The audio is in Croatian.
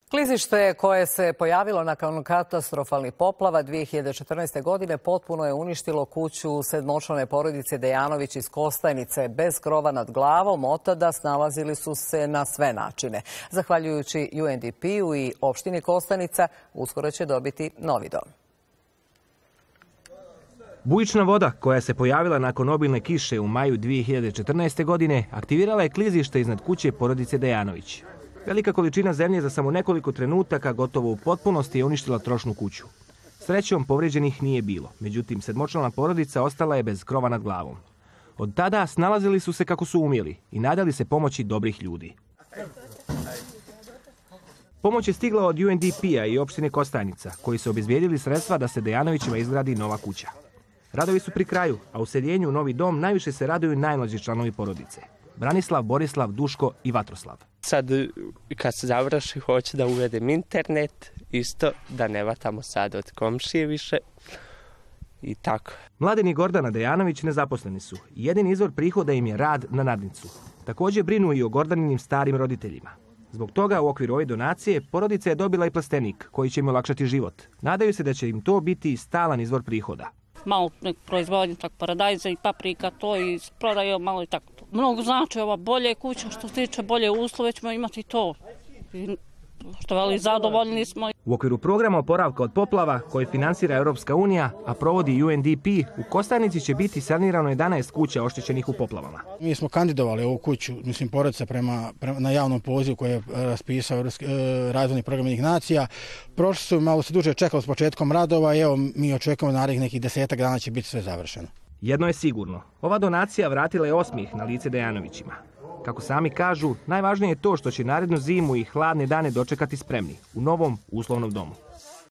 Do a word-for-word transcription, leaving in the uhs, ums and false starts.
Klizište koje se pojavilo nakon katastrofalnih poplava dvije hiljade četrnaeste. godine potpuno je uništilo kuću sedmočlane porodice Dejanović iz Kostajnice. Bez krova nad glavom od tada snalazili su se na sve načine. Zahvaljujući U N D P-u i opštini Kostajnica, uskoro će dobiti novi dom. Bujična voda koja se pojavila nakon obilne kiše u maju dvije hiljade četrnaeste. godine aktivirala je klizište iznad kuće porodice Dejanović. Velika količina zemlje za samo nekoliko trenutaka gotovo u potpunosti je uništila trošnu kuću. Srećom, povrijeđenih nije bilo, međutim sedmočlana porodica ostala je bez krova nad glavom. Od tada snalazili su se kako su umjeli i nadali se pomoći dobrih ljudi. Pomoć je stigla od U N D P-a i opštine Kostajnica, koji su obezbijedili sredstva da se Dejanovićima izgradi nova kuća. Radovi su pri kraju, a u seljenju u novi dom najviše se raduju najmlađi članovi porodice. Branislav, Borislav, Duško i Vatroslav. Sad kad se završi hoću da uvedem internet, isto da ne vatamo sad od komšije više i tako. Mladen i Gordana Dejanović nezaposleni su. Jedini izvor prihoda im je rad na nadnicu. Također brinu i o Gordaninim starim roditeljima. Zbog toga u okviru ove donacije porodica je dobila i plastenik koji će im olakšati život. Nadaju se da će im to biti stalan izvor prihoda. Malo proizvodnje tak paradajza i paprika, to i prodaju malo i tako. Mnogo znači ova bolje kuća, što se tiče bolje uslove ćemo imati to. I što veli zadovoljni smo. U okviru programa oporavka od poplava koje finansira Europska unija, a provodi U N D P, u Kostajnici će biti sanirano jedanaest kuća oštećenih u poplavama. Mi smo kandidovali ovu kuću, mislim, porodica prema, prema na javnom pozivu koji je raspisao Europski eh, razvojni program Ujedinjenih nacija. Prošli su, malo se duže čekalo s početkom radova i evo mi očekujemo narednih nekih desetak dana će biti sve završeno. Jedno je sigurno, ova donacija vratila je osmijeh na lice Dejanovićima. Kako sami kažu, najvažnije je to što će narednu zimu i hladne dane dočekati spremni u novom uslovnom domu.